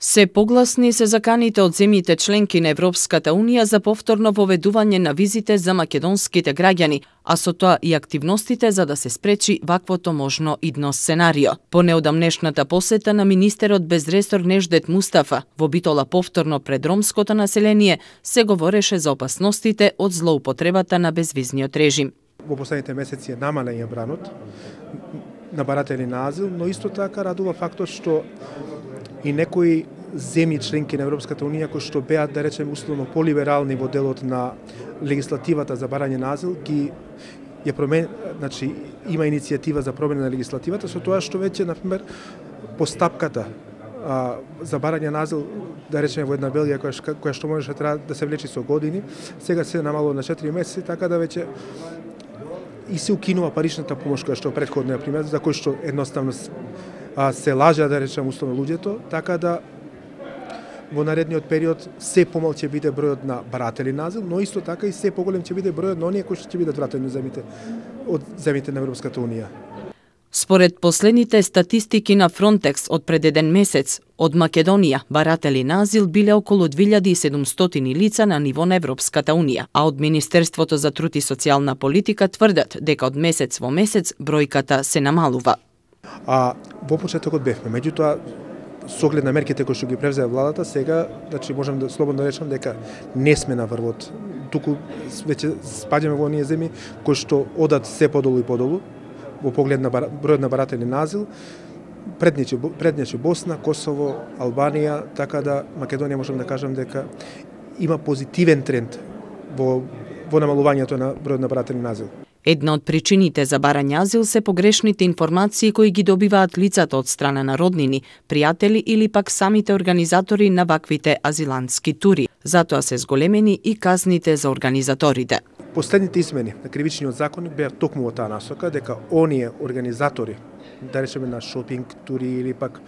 Се погласни се заканите од земјите членки на Европската Унија за повторно воведување на визите за македонските граѓани, а со тоа и активностите за да се спречи ваквото можно идно сценарио. По неодамнешната посета на министерот без ресор Неждет Мустафа во Битола повторно пред ромското население се говореше за опасностите од злоупотребата на безвизниот режим. Во последните месеци е намален бранот на баратели на азил, но исто така радува фактот што и некои земји членки на Европската Унија кои што беа, да речеме, условно полиберални во делот на легислативата за барање на азил, значи има иницијатива за промена на легислативата со тоа што веќе, например, постапката за барање на азил, да речеме во една Белгија која што можеше да се влечи со години, сега се намалува на 4 месеци, така да веќе и се укинува паричната помош која што претходно, например, за кој што едноставно се лажа, да речем, условно луѓето, така да во наредниот период се помал ќе биде бројот на баратели на азил, но исто така и се поголем ќе биде бројот на оние кои што ќе бидат вратени од земјите на Европската Унија. Според последните статистики на Фронтекс од пред еден месец, од Македонија баратели на азил биле околу 2700 лица на ниво на Европската Унија, а од Министерството за труд и социјална политика тврдат дека од месец во месец бројката се намалува. Во почетокот бевме, меѓутоа со оглед на мерките кои што ги превзеа владата, сега, значи можам да слободно речам дека не сме на врвот. Туку веќе спаѓаме во оние земји кои што одат се подолу и подолу во поглед на бројот на баратели на азил. Предничи Босна, Косово, Албанија, така да Македонија можам да кажам дека има позитивен тренд во намалувањето на бројот на баратели на азил. Една од причините за барање азил се погрешните информации кои ги добиваат лицата од страна на роднини, пријатели или пак самите организатори на ваквите азилантски тури. Затоа се зголемени и казните за организаторите. Последните измени на кривичниот законник беа токму во таа насока дека оние организатори, да речеме на шопинг тури или пак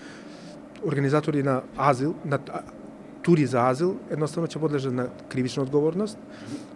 организатори на азил, на тури за азил, едноставно ќе подлежат на кривична одговорност.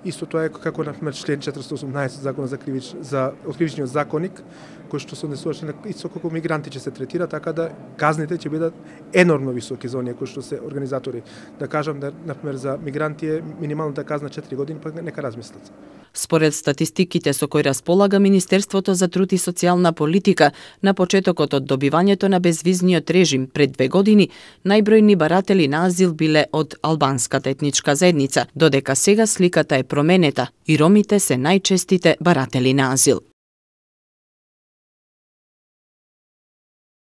Исто тоа е како например член 418 закона за кривичниот законник, кој што се однесуваше на исто како мигранти ќе се третира, така да казните ќе бидат енормно високи за оние кои што се организатори. Да кажам да например за мигранти е минималната казна 4 години, пак нека размислат. Според статистиките со кои располага Министерството за труд и социјална политика, на почетокот од добивањето на безвизниот режим пред 2 години, најбројни баратели на азил биле од албанската етничка заедница, додека сега сликата е променета и ромите се најчестите баратели на азил.